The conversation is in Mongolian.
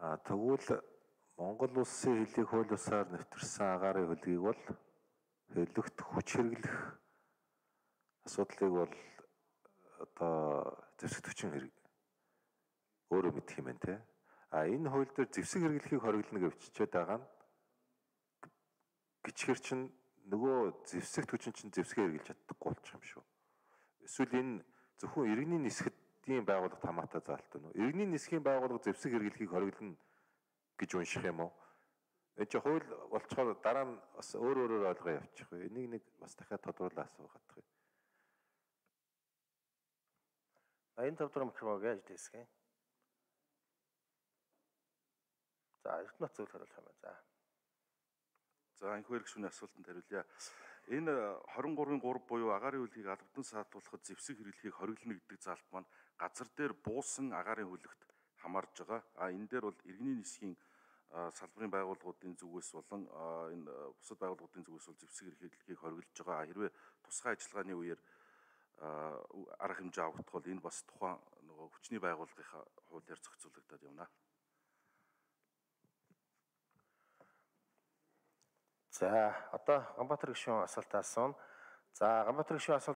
Тэгвэл Монгол улсын хэлийг хууль ёсоор нэвтэрсэн агаарын хөлгийг бол хэллэгт хүч хэрэглэх асуудлыг бол одоо зэвсэг хүчин хэрэг өөрөө мэдэх юм байна те. Энэ хууль дээр зэвсэг хэрэглэхийг хориглоно гэж бичиж байгаа нь гिचгэр чинь нөгөө зэвсэгт хүчин чинь зэвсгээ хэрэглэж чаддаггүй болчих юм шүү. Эсвэл энэ зөвхөн иргэний нисгэдийн байгууллагт хамаатай заалт байна уу? Иргэний нисхийн байгууллага зэвсэг хэрэглэхийг хориглоно гэж унших юм уу? Энэ чинь хууль болцохоор дараа нь бас өөрөөр ойлгоо явчих вэ. Энийг нэг бас дахиад тодруулаад асуугаад байгаа. Энэ тавдрам микрофон гэж дэсгэн. За, эрдэнэ зүйл хариулах юм байна. За, энэхүү хэрэгшүүний асуултанд хариулъя. Энэ 23-ын 3 буюу агаарын хөлгийг албадан саатуулахад зэвсэг хэрэглэхийг хориглоно гэдэг заалт маань газар дээр буусан агаарын хөлөгт хамаарж байгаа. Энэ дээр бол иргэний нисхийн салбарын байгууллагуудын зүгээс болон энэ бусад байгууллагуудын зүгээс бол зэвсэг хэрэглэхийг хориглож байгаа. Хэрвээ тусгай ажиллагааны үеэр арга хэмжээ авагдах бол энэ бас тухайн нөгөө хүчний байгууллагынхаа хуулиар зохицуулагдаад явна. За, одоо Ганбаатар гишүүн асуултаас асууна. За, Ганбаатар гишүүн асуулт